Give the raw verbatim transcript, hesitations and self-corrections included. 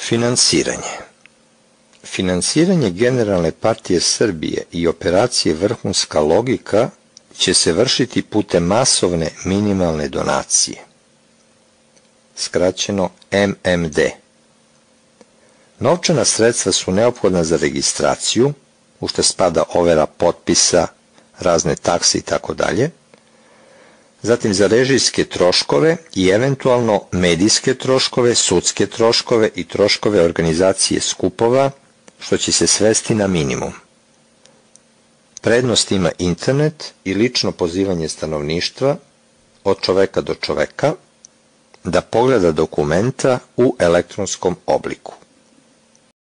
Finansiranje. Finansiranje Generalne partije Srbije i operacije Vrhunska logika će se vršiti putem masovne minimalne donacije, skraćeno M M D. Novčana sredstva su neophodna za registraciju, u što spada overa potpisa, razne takse itd., zatim za režijske troškove i eventualno medijske troškove, sudske troškove i troškove organizacije skupova, što će se svesti na minimum. Prednost ima internet i lično pozivanje stanovništva od čoveka do čoveka da pogleda dokumenta u elektronskom obliku.